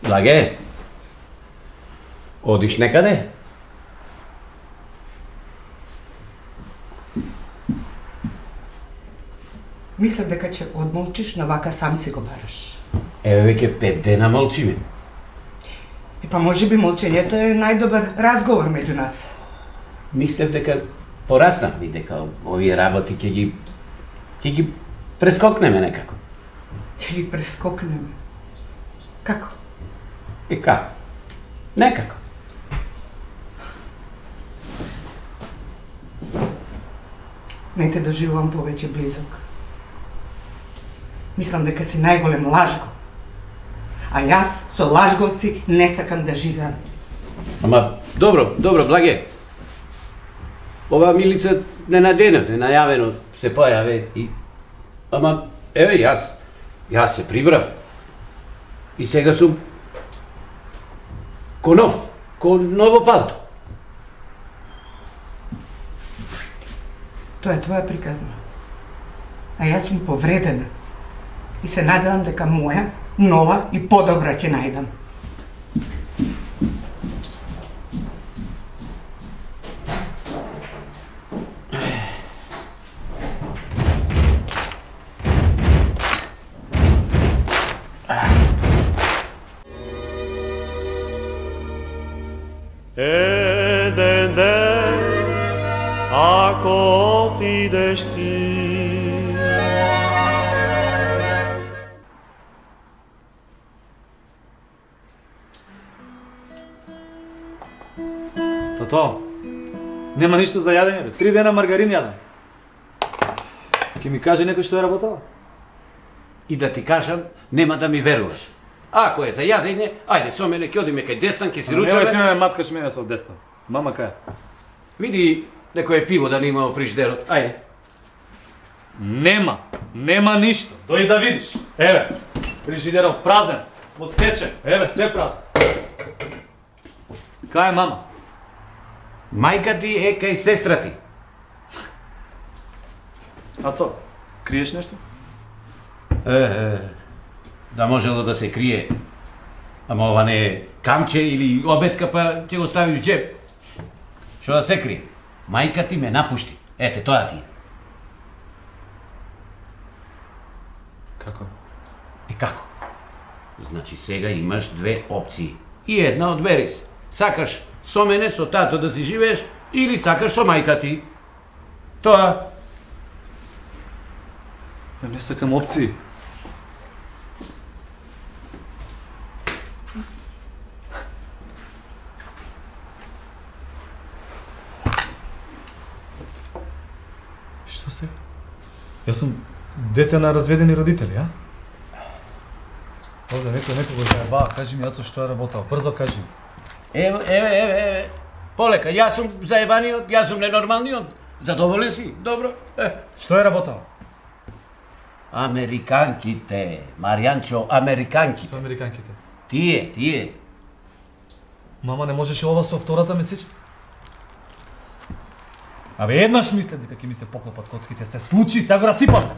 Благе? Одиш некаде? Мислев дека ќе одмолчиш, но вака сам си го бараш. Еве веќе 5 дена молчиме. Па може би молчењето е најдобар разговор меѓу нас. Мислев дека пораснавме, дека овие работи ќе ги прескокнеме некако. Ќе ги прескокнеме? Како? И како? Некако. Не те доживувам повеќе близок. Мислам дека си најголем лажго. А јас со лажговци не сакам да живеам. Ама, добро, Благе. Ова Милица ненајавено се појаве и... Ама, еве, јас се прибрав. И сега сум... ко ново палто. Тоа е твоја приказна. А јас сум повредена. И се надевам дека моја, нова и подобра ќе најдам. Еден ден, ако отидеш ти, Тато, нема ништо за јадење, бе. 3 дена маргарин јадам. Ке ми каже некој што е работала? И да ти кажам, нема да ми веруваш. Ако е за јадење, ајде со мене ќе одиме кај Дестан, ќе си ручаме. Немој ти ме маткаш мене со Дестан. Мама кај? Види некој пиво да не има во фриждерот. Ајде. Нема ништо. Дојди да видиш. Еве, фрижидерот празен. Во стече. Еве, све празно. Кај е мама? Мајка ти е кај сестра ти. Ацо, криеш нешто? Да можело да се крие. Ама ова не е камче или обетка, па ќе го ставиш в джеб. Што да се крие? Мајка ти ме напушти. Ете, тоа ти. Како? Како? Значи сега имаш 2 опции. И една одбери се. Сакаш со мене, со тато да си живееш, или сакаш со мајка ти. Тоа. Ја не сакам опции. Што се? Јас сум дете на разведени родители, а? Овде некој го заебава, кажи ми, Ацо, што е работал. Брзо кажи. Еве. Полека, јас сум заебаниот, јас сум ненормалниот. Задоволен си? Добро. Што е работал? Американките, Маријанчо, американките. Што американките? Тие. Мама, не можеше ова со втората месечна? Абе, еднаш мисле дека ќе ми се поклопат коцките, се случи, сега го расипам.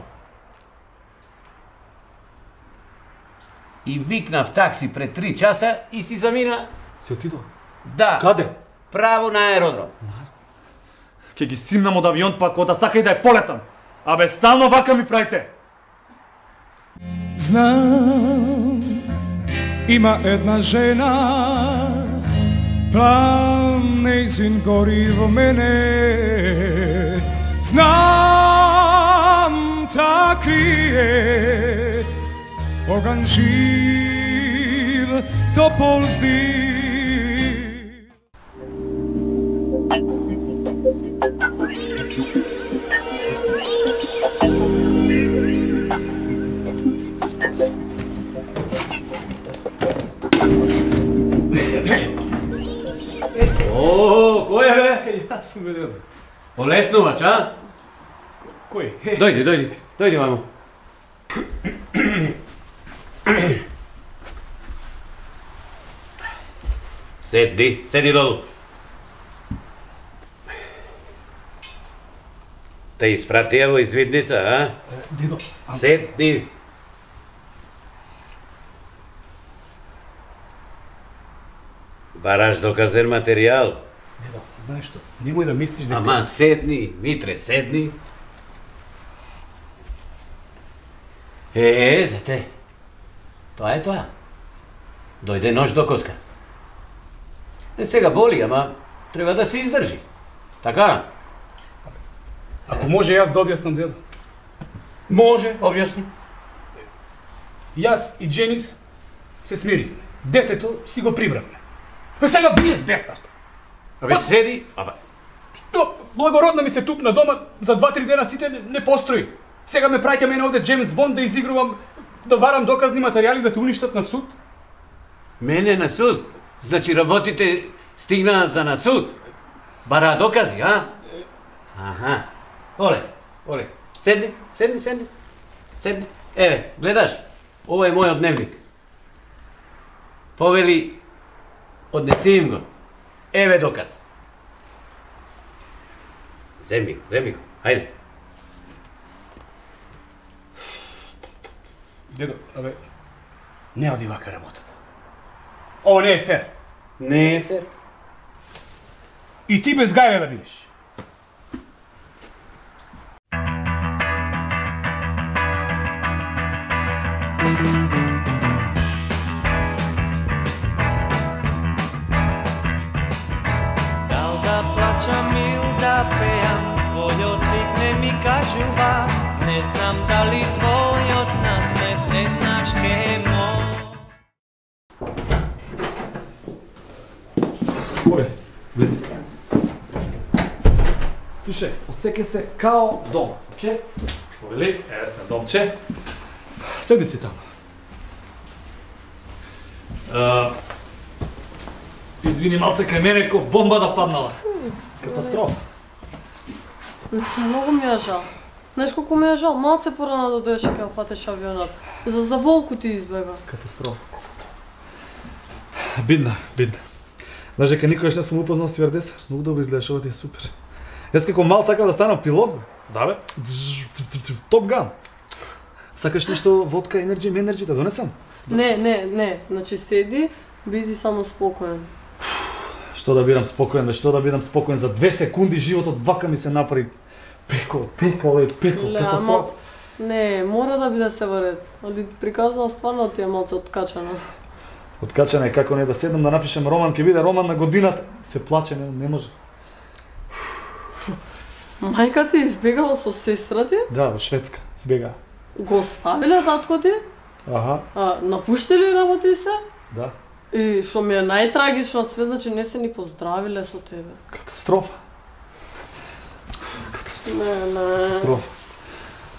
И викнав такси пред 3 часа и си замина. Си отидо? Да. Каде? Право на аеродром. Ќе ги симнам од авион, па кој да сака и да е полетам. Абе, стално вака ми правите. Знам, има една жена, план нејзин гори во мене. Знам, та крие оган жив, топол здив. Кој е, бе? Јас сум бе. Полеснувач, а? Кој? Дојди, мамо. Седи долу. Те испратија во извидница, а? Дедо. Седи. Бараш доказен материјал. Дедо, знаеш што? Немој да мислиш дека... Ама седни, Митре, седни. Зете. Тоа е тоа. Дојде нож до коска. Сега боли, ама треба да се издржи. Така? Ако може јас да објаснам, дедо. Може, објасни. Јас и Дженис се смиривме. Детето си го прибравме. Па сега вие збеставте. Абе седи, Што, благородна ми се тупна дома, за 2-3 дена сите не постои. Сега ме праќа мене овде Джеймс Бонд да изигрувам, да барам доказни материјали да те уништат на суд. Мене на суд? Значи работите стигна за на суд? Бара докази, а? Аха. Оле. Седни. Еве, гледаш? Ова е мојот дневник. Повели, однеси им го. Еве доказ. Земи го. Хајде. Дедо, не оди вака работата. Ово не е фер. Не е фер. И ти без гајле да бидеш. Дал да плачам или да пеам, твојот лик не ми кажува. Не знам дали твојот насмев еднаш ке Оле, влези. Слушај, осеќај се као дома, окей? Повели, еве сме домче. Седи си таму. Извини малце кај мене ко бомба да паднала. Катастрофа. Многу ми е жал. Знаеш колку ми е жал? Малце порано да дојдеше кај фатеш авионат. За волку ти избега. Катастрофа. Бидна. Знаеш дека никогаш не сум упознал стюардеса? Многу добро изгледаш, ова ти е супер. Јас како мал сакав да станам пилот, бе. Да, бе. Топ Ган. Сакаш нешто водка, енерджи да донесам? Не. Значи седи, биди само спокоен. Што да бидам спокоен, бе, што да бидам спокоен за 2 секунди животот вака ми се направи. Пеко, катастрофа. Не, мора да биде се во ред. Ali приказна стварно ти е малце откачана. Откачана е како не да седнам да напишем роман, ќе биде роман на годината. Се плаче, не може. Мајка ти избегала со сестра ти? Да, во Шведска избега. Го оставиле татко ти? Аха. Напуштили работи се? Да. И што ми е најтрагично од све, значи не се ни поздравиле со тебе. Катастрофа. Не. Катастрофа.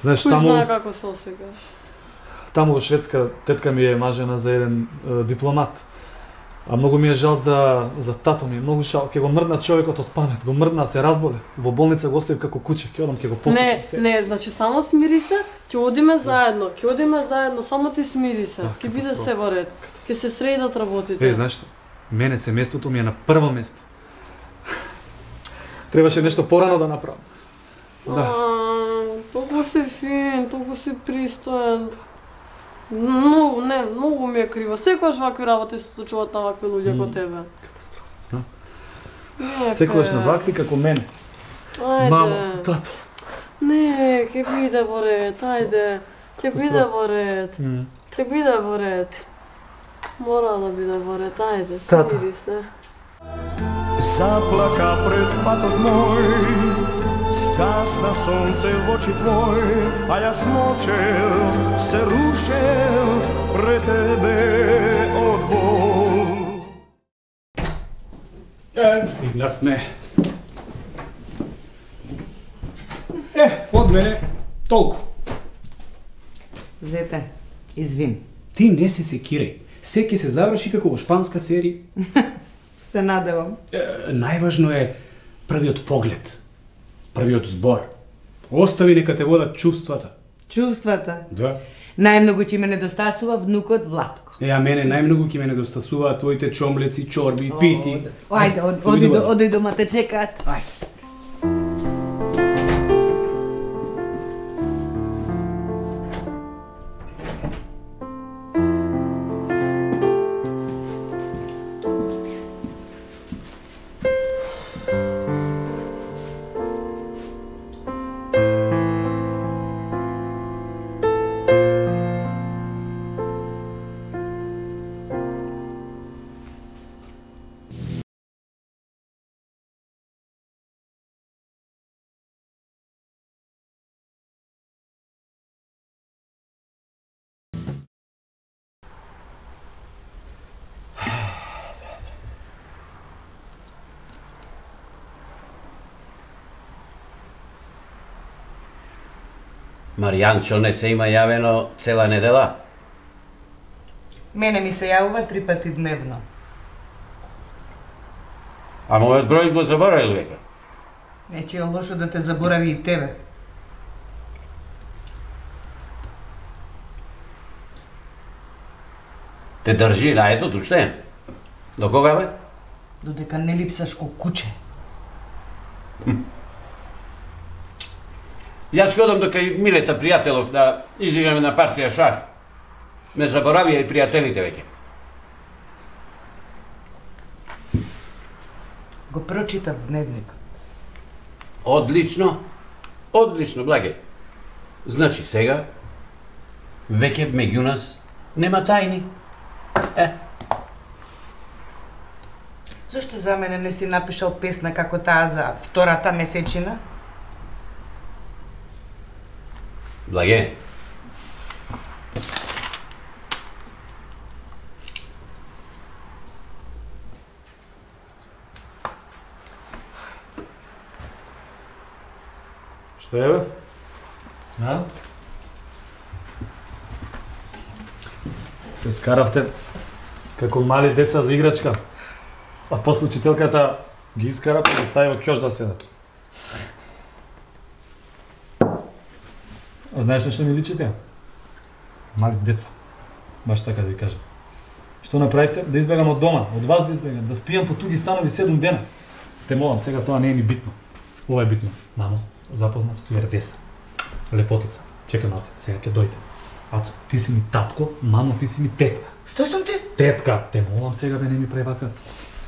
Знаеш, Кој знае како се осекаш? Таму во Шведска тетка ми е мажена за еден дипломат. А многу ми е жал за тато ми, многу жал. Ќе го мрдна човекот од памет, го мрдна, се разболе. Во болница го оставив како куче, ќе одам, ќе го посетам. Не, значи само смири се, ќе одиме заедно, само ти смири се. Ќе биде се во ред. Ќе се средат работите. Знаеш што? Мене семејството ми е на прво место. Требаше нешто порано да направам. Да. Толку си фин, толку си пристоен. Многу ми е криво. Секогаш вакви работи се случуваат на вакви луѓе како тебе. Катастрофа, знам. Секогаш на вакви како мене. Ајде. Мамо, тато. Не, ќе биде во ред, ајде. Ќе биде во ред. Ќе биде во ред. Мора да биде во ред, ајде, смири се. Заплака пред патот мој, скасна сонце в очи твој, а јас мочел, се рушел пред тебе од бол. Стигнавме. Од мене толку. Зете, извин. Ти не се секирај. Се ќе се заврши како во шпанска серија. Се надевам. Најважно е првиот поглед, првиот збор. Остави нека те водат чувствата. Чувствата? Да. Најмногу ќе ме недостасува внукот Владко. А мене најмногу ќе ме недостасуваат твоите чомлеци, чорби, пити. Ајде, оди дома те чекаат. Ајде. Маријанчо не се има јавено цела недела? Мене ми се јавува 3 пати дневно. А мојот број го заборавил веќе. Не че е лошо да те заборави и тебе. Те држи рајето уште? До кога бе? Додека не липсаш ко куче. Јас ќе одам до кај Милета пријателов да изиграме на партија шах. Не заборавија и пријателите веќе. Го прочитав дневникот. Одлично. Одлично, благе. Значи сега веќе меѓу нас нема тајни. Зошто за мене не си напишал песна како таа за втората месечина? Благе. Што е бе? А? Се скаравте како мали деца за играчка, а после учителката ги искара па ги стави во ќош да седат. А знаеш што ми личите? Мали деца. Баш така да ви кажам. Што направивте? Да избегам од дома, од вас да избегам, да спијам по туги станови 7 дена. Те молам, сега тоа не е ни битно. Ова е битно. Мамо, запознав стюардеса. Лепотица. Чекай малце, сега ќе дојде. Ацо, ти си ми татко, мамо, ти си ми тетка. Што сум ти? Тетка, те молам сега бе, не ми прави вака.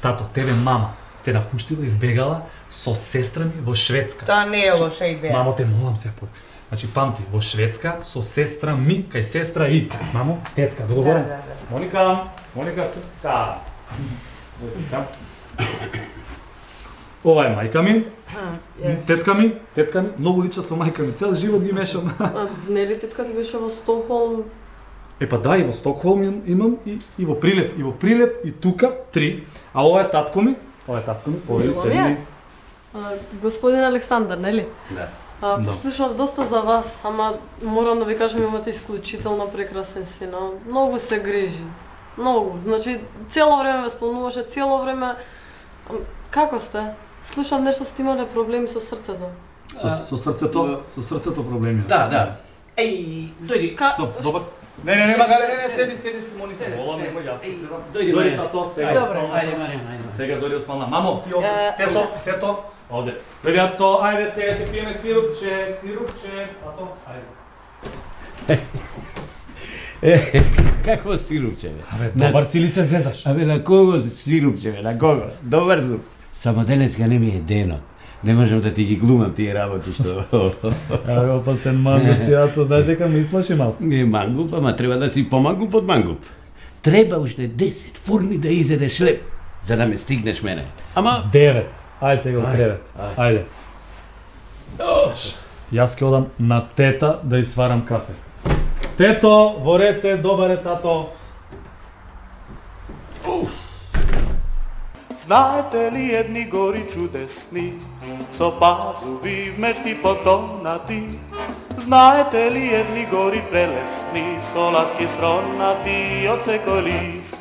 Тато, тебе мама те напуштила, избегала со сестра ми во Шведска. Тоа не е лоша идеја. Мамо, те молам се по. Значи памти, во Шведска со сестра ми, кај сестра и. Мамо, тетка, договорен? Да. Моника срцка. Ова е мајка ми. Тетка ми, многу личат со мајка ми, цел живот ги мешам. А нели тетка ти беше во Стокхолм? Па да, и во Стокхолм имам и во Прилеп и тука 3. А ова е татко ми, повели седи. Господин Александар, нели? Да. Послушав доста за вас, ама морам да ви кажам, имате исклучително прекрасен син. Многу се грижи. Многу. Значи, цело време ве спомнуваше, цело време... Како сте? Слушам нешто сте имале проблеми со срцето. Со срцето проблеми. Да. Еј, дојди. Што, добар? Не, магале, седи си, Моника. Молам, нема јас ќе следам. Дојди тато, сега. Добре, ајде Маријан. Сега дојди спална. Мамо, ти овде, тето, овде. Дојди ацо, ајде сега ќе пиеме сирупче, ато, ајде. Какво сирупче, бе? Абе, добар си ли се зезаш? Абе, на кого сирупче, бе, на кого? Добар сум. Само денеска не ми е денот. Не можам да ти ги глумам тие работи што... Абе, опасен мангуп си, ацо, знаеш дека ми изплаши малце. Не мангуп, ама треба да си помангуп од мангуп. Треба уште 10 фурни да изедеш леп, за да ме стигнеш мене. Ама... 9. Ајде сега 9. Ајде. Јас ќе одам на тета да изварам кафе. Тето, ворете, добар е тато. Знаете ли едни гори чудесни, со пазуви вмешти потонати? Знаете ли едни гори прелесни, со ласки сронати од секој лист?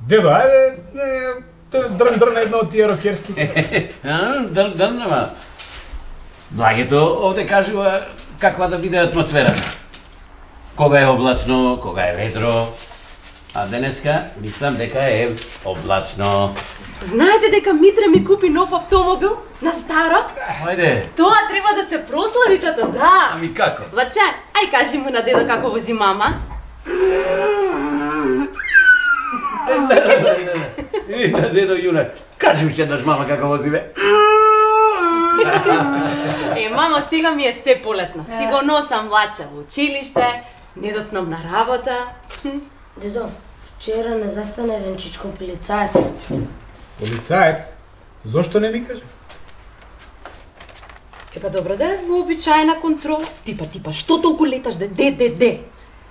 Дедо, ајде, дрн едно од тие рокерски. Дрн, ама... Благето овде кажува каква да биде атмосферата. Кога е облачно, кога е ведро. А денеска мислам дека е облачно. Знаете дека Митра ми купи нов автомобил на старо? Ајде. Тоа треба да се прослави, тато, да. Ами како? Влаче, ај кажи му на дедо како вози мама. И на дедо Јуна, кажи уште еднаш мама како вози бе. Мамо, сега ми е се полесно. Си го носам влаче во училиште, не доцнам на работа. Дедо, вчера не застана еден чичко полицаец. Полицаец? Зошто не ми кажа? Епа добро да е вообичаена контрола. Типа, што толку леташ де? Ќе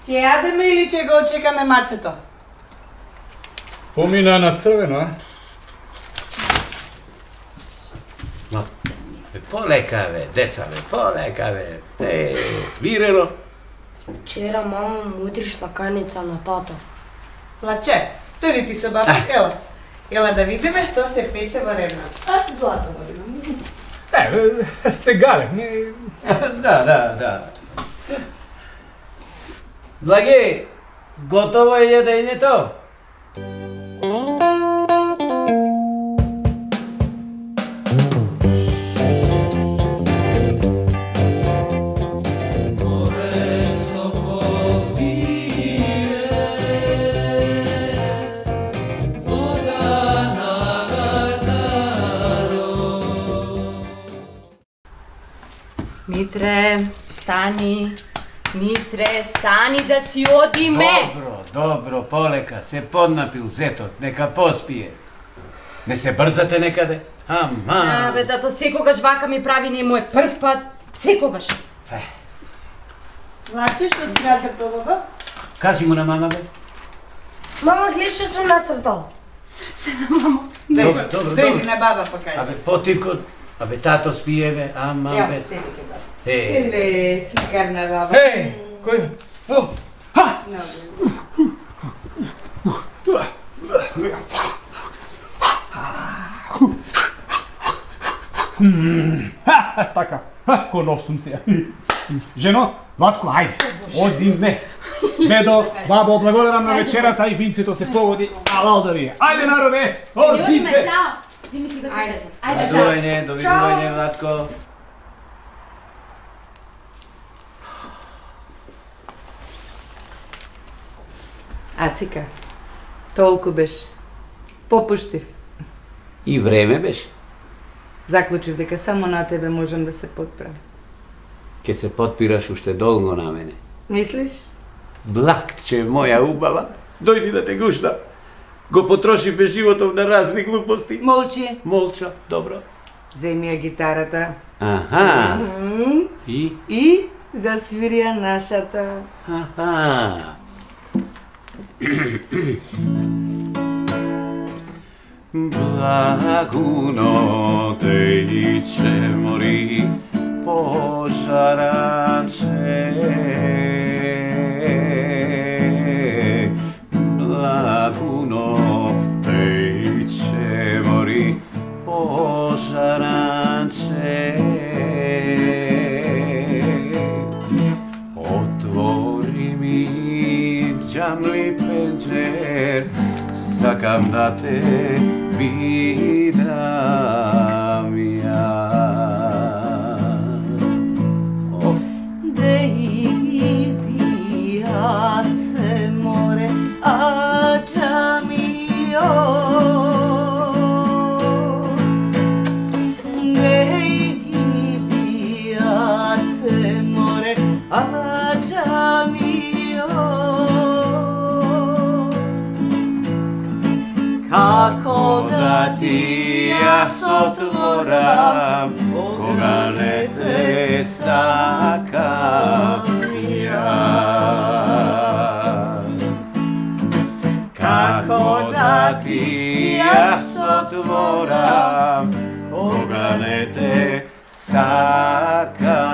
јадеме или ќе го очекаме мацето? Помина на црвено, а? полека бе, деца бе, полека бе. Смирено. Вчера мама му утри шлаканица на тато. Лаче, дојди ти со баба, ела. Ела да видиме што се пече во ревната. Злато водиме. Се галевме. Да. Благи, готово е јадењето? Митре, стани. Митре, стани да си одиме. Добро, полека, се поднапил зетот, нека поспие. Не се брзате некаде? Ама. Абе, тато секогаш вака ми прави, не му е прв пат, секогаш. Лаче, што си нацртал, баба? Кажи му на мама, бе. Мама, гледа што сум нацртал. Срце на мама. Добро. Дојди на баба па кажи. Абе, потивко, абе, тато спие, бе, ама, бе. Седите, баба. Е, сликарна баба. Кој? О! Ха! Така, ко нов сум се. Жено, Владко, ајде, одиме. Дедо, бабо, благодарам на вечерата и винцето се погоди, алал да ви е. Ајде, народе, одиме. Чао. Зими си го тетеше. Ајде, чао. Довидување, Владко. Ацика, толку беше. Попуштив. И време беше. Заклучив дека само на тебе можам да се подправам. Ке се подпираш уште долго на мене. Мислиш? Блакче, моја убава, дојди да те гушна. Го потрошивме животов на разни глупости. Молчи. Молча, добро. Земи ја гитарата. Аха. И засвирија нашата. Аха. Благуно тече мори пожараче. Благуно тече мори пожараче. Отвори ми джамли пенџер, сакам да те видам ја. Дејди аце море, аџамио. Дејди аце море, аџамио. Како да ти јас отворам, кога не те сакам јас. Како да ти јас отворам, кога не те сакам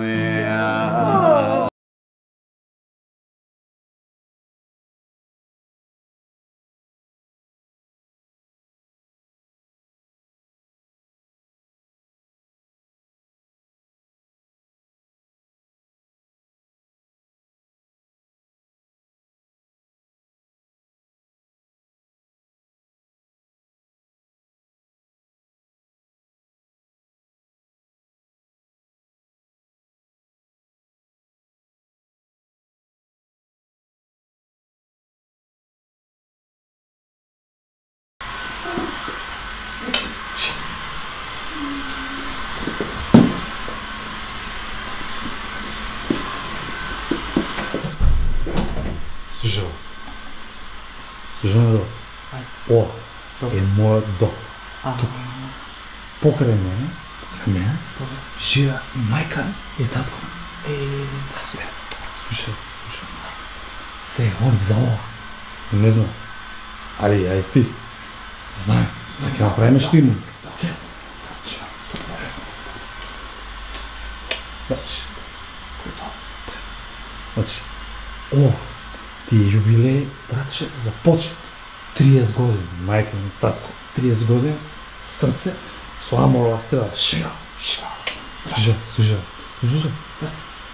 јас. Слушаме ова е мојот дом. Тук. Покрај мене, живе и мајка и татко. Слушај. Се, он за ова. Не знам. Али, ај ти. Знаем. Ќе направиме штирно. Значи, о, тие јубилеј, братче, започна 30 години, мајка ми, татко, 30 години, срце, со аморова стрела, шига. Служа.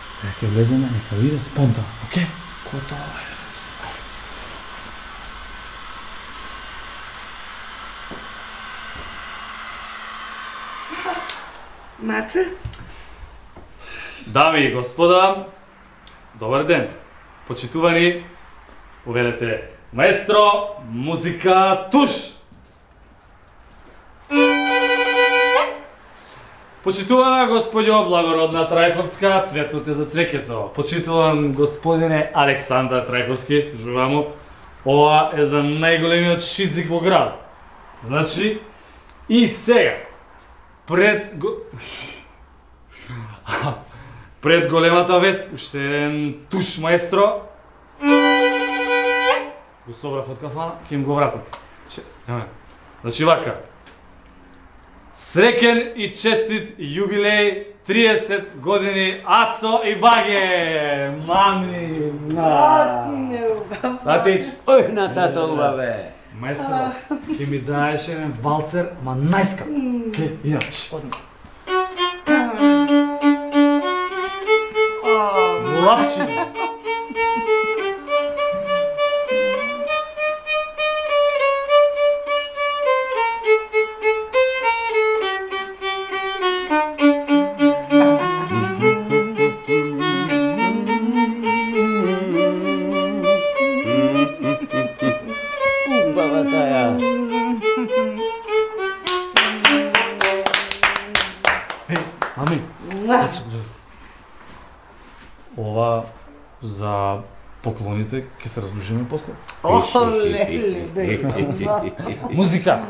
Сега ќе влеземе, нека биде спонтано, окей? Готово е. Маце? Дами и господа, добар ден. Почитувани, повелете маестро, музика, туш! Почитувана господјо Благородна Трајковска, цветот е за цвеќето. Почитуван господине Александар Трајковски, служувамо. Ова е за најголемиот шизик во град. Значи, и сега, пред големата вест, уште еден туш маестро. Го собрав од кафана, ќе им го вратам. Значи вака. Среќен и честит јубилеј 30 години Ацо и Баге! Мами! Татич! Ој, на тато убаве! Маестро, ќе ми даеш еден валцер, ма најскап. Ке, идеш. Лапчи! Ова за поклоните ќе се раздушиме после. Музика.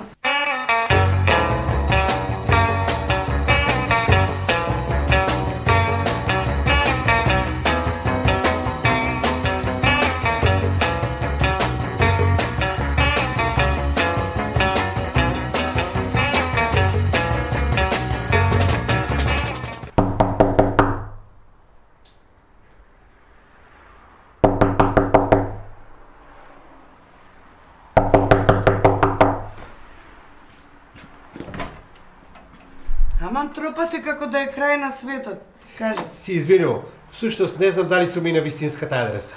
Амам тропате како да е крај на светот. Кажи. Си извинувам. Всушност не знам дали сум и на вистинската адреса.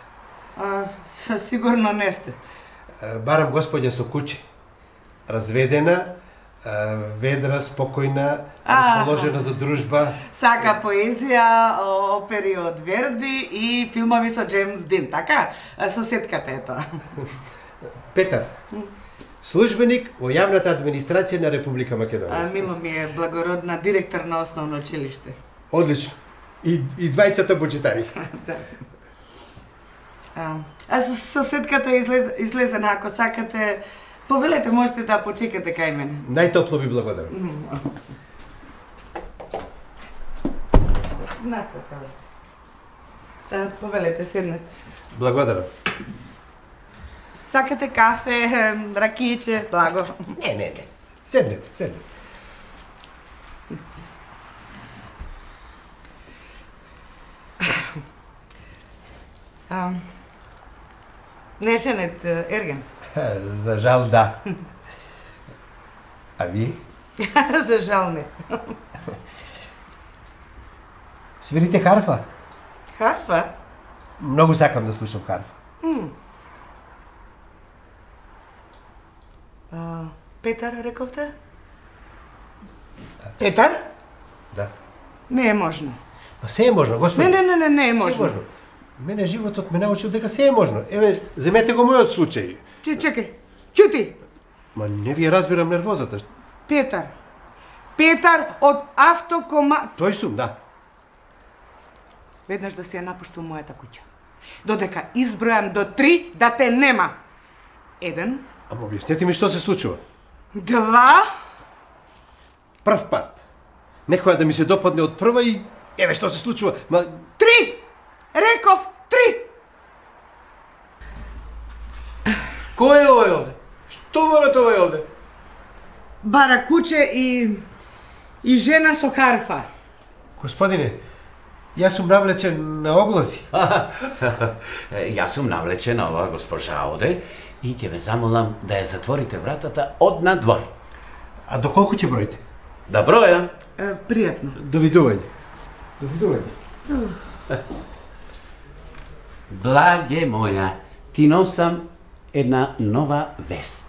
Сигурно не сте. Барам господја со куќе. Разведена, ведра, спокојна, расположена за дружба. Сака поезија, опери од Верди и филмови со Джеймс Дин, така? Соседката е тоа. Петар, службеник во јавната администрација на Република Македонија. Мило ми е, благородна, директор на основно училиште. Одлично. И двајцата бочитари. Соседката е излезена, ако сакате, повелете, можете да почекате кај мене. Најтопло ви благодарам. Нате тоа. Повелете, седнете. Благодарам. Сакате кафе, ракијче, благо? Не. Седнете. Не женет Ерген? За жал да. А ви? За жал не. Свирите харфа? Харфа? Многу сакам да слушам харфа. Петар, рековте? Петар? Да. Не е можно. Па се е можно, господи. Не е можно. Се е можно. Мене животот ме научил дека се е можно. Еве, земете го мојот случај. Чекај. Чути. Ма не ви разбирам нервозата. Петар. Петар од автокома... Тој сум, да. Веднаш да се ја напуштил мојата куќа. Додека избројам до 3 да те нема. 1. Ама објаснете ми што се случува. 2. Прв пат. Некоја да ми се допадне од прва и еве што се случува. 3. Реков 3. Кој е овој овде? Што барате овој овде? Бара куче и жена со харфа. Господине, Јас сум навлечен на огласи. Јас сум навлечен на ова госпожа оде и ќе ве замолам да ја затворите вратата од надвор. А до колку ќе броите? Да бројам. Пријатно. Довидување. Довидување. Благе моја, ти носам една нова вест.